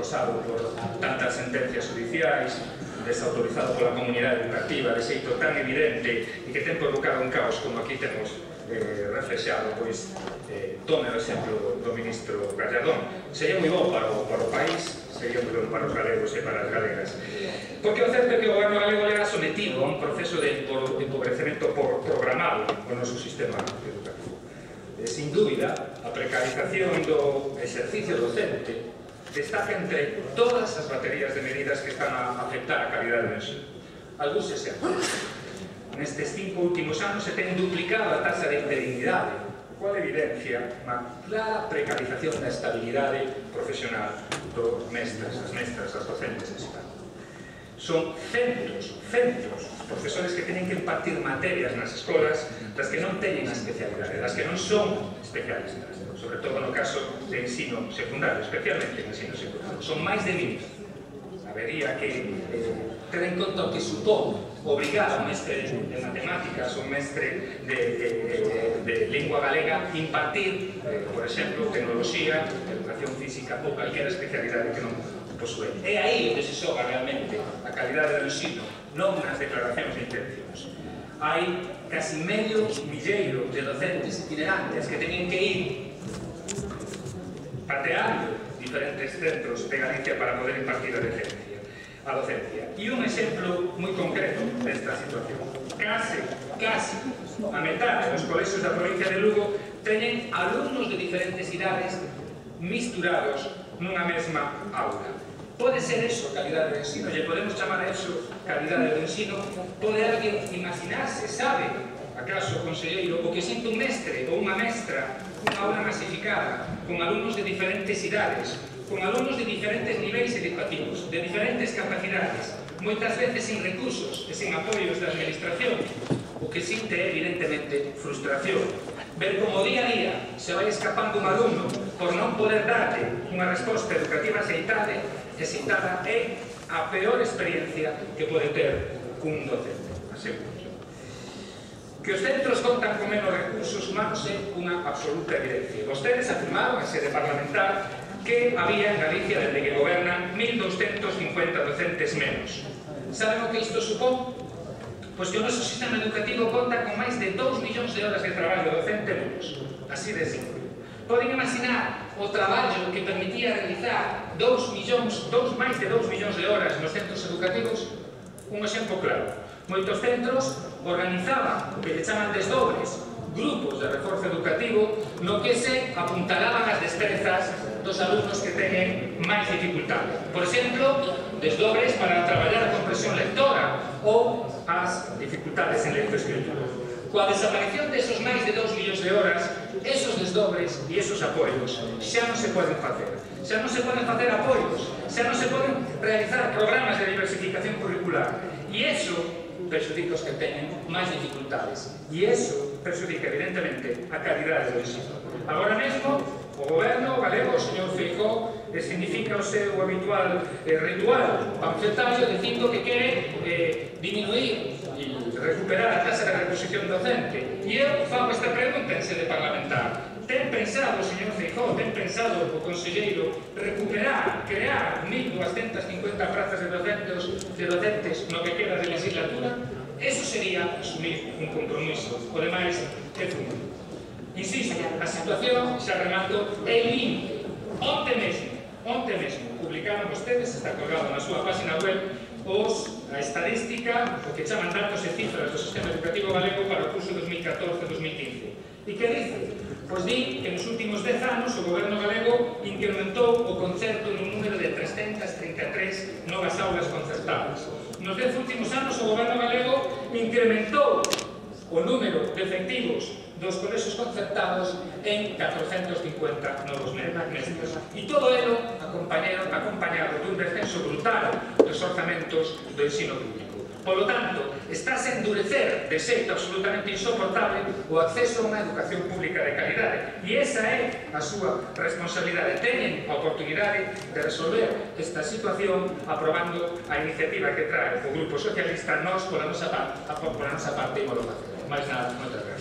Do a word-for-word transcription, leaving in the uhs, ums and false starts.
acosado por tantas sentencias judiciais, desautorizado pola comunidade educativa de xeito tan evidente e que ten provocado un caos como aquí temos eh, reflexado, pois eh, tome o exemplo do ministro Gallardón. Sería moi bom para o, para o país, sería moi bom para os galegos e para as galegas. Porque o certo é que o goberno galego leva sometido a un proceso de empobrecemento programado no noso sistema educativo. Eh, sin dúbida, a precarización do exercicio docente destaca entre todas as baterías de medidas que están a afectar a calidade do ensino. Algúns exemplos. Nestes cinco últimos anos se ten duplicado a taxa de interinidade, o cual evidencia unha clara precarización da estabilidade profesional dos mestres, as mestras, as docentes en España. Son centos, centos os profesores que teñen que impartir materias nas escolas das que non teñen a especialidade, das que non son especialistas, sobre todo no caso de ensino secundario, especialmente en ensino secundario. Son máis de mil. Habería que eh, ter en conta o que supón obrigar a un mestre de matemáticas, un mestre de, de, de, de lingua galega, impartir, eh, por exemplo, tecnoloxía, educación física ou calquera especialidade que non posúe. É aí onde se xoga realmente a calidade do ensino, non nas declaracións de intencións. Hai casi medio milleiro de docentes itinerantes que teñen que ir pateando diferentes centros de Galicia para poder impartir a docencia. A docencia. E un exemplo moi concreto desta situación. Case, case, a metade dos colexios da provincia de Lugo teñen alumnos de diferentes idades misturados nunha mesma aula. Pode ser eso calidade do ensino? Lle podemos chamar a eso calidade do ensino? Pode alguén imaginarse, sabe, acaso, conselleiro, o que sente un mestre ou unha mestra unha aula masificada, con alumnos de diferentes idades, con alumnos de diferentes niveis educativos, de diferentes capacidades, moitas veces sin recursos e sin apoios da administración? O que sinte é, evidentemente, frustración. Ver como día a día se vai escapando un alumno por non poder darle unha resposta educativa aceitada é a peor experiencia que pode ter un docente, aseguro. Que os centros contan con menos recursos humanos é unha absoluta evidencia. Vostedes afirmaron en sede parlamentar que había en Galicia, desde que gobernan, mil doscientos cincuenta docentes menos. Saben o que isto supón? Pois que o noso sistema educativo conta con máis de dous millóns de horas de traballo docente menos. Así de simple. Poden imaginar o traballo que permitía realizar dous millóns, dous, máis de dous millóns de horas nos centros educativos? Un exemplo claro. Moitos centros organizaban o que lle chaman desdobres, grupos de reforzo educativo, no que se apuntalaban as destrezas dos alumnos que teñen máis dificultade. Por exemplo, desdobres para traballar a comprensión lectora ou as dificultades en lectoescritura. Coa desaparición desos máis de dous millóns de horas, esos desdobres e esos apoios xa non se poden facer. Xa non se poden facer apoios, xa non se poden realizar programas de diversificación curricular. E iso perxudica os que teñen máis dificultades. E iso perxudica, evidentemente, a calidade do ensino. Agora mesmo, o goberno galego, o señor Feijóo, significa o seu habitual eh, ritual panfletario dicindo que quere eh, disminuir e recuperar a tasa de reposición docente. E eu fago esta pregunta en sede parlamentar. Ten pensado, señor Feijóo, ten pensado o conselleiro recuperar, crear mil doscientas cincuenta plazas de docentes, de docentes no que queda de legislatura? Eso sería asumir un compromiso. O demais é fumo. Insisto, a situación, xa remato, é límite. Onte mesmo, onte mesmo, publicaron vostedes, está colgado na súa página web, os, a estadística, o que chaman datos e cifras do sistema educativo galego para o curso dos mil catorce dos mil quince. E que dice? Pois di que nos últimos dez anos o goberno galego incrementou o concerto nun número de trescentas trinta e tres novas aulas concertadas. Nos dez últimos anos o goberno galego incrementou o número de efectivos dos colexios concertados en catrocentos cincuenta novos mestres. E todo elo acompañado, acompañado dun descenso brutal dos orzamentos do ensino público. Polo tanto, estáse a endurecer de xeito absolutamente insoportable o acceso a unha educación pública de calidade. E esa é a súa responsabilidade. Teñen a oportunidade de resolver esta situación aprobando a iniciativa que trae o Grupo Socialista. Nós, pola nosa parte, pola nosa parte, imolo facer. Mais nada, moitas gracias.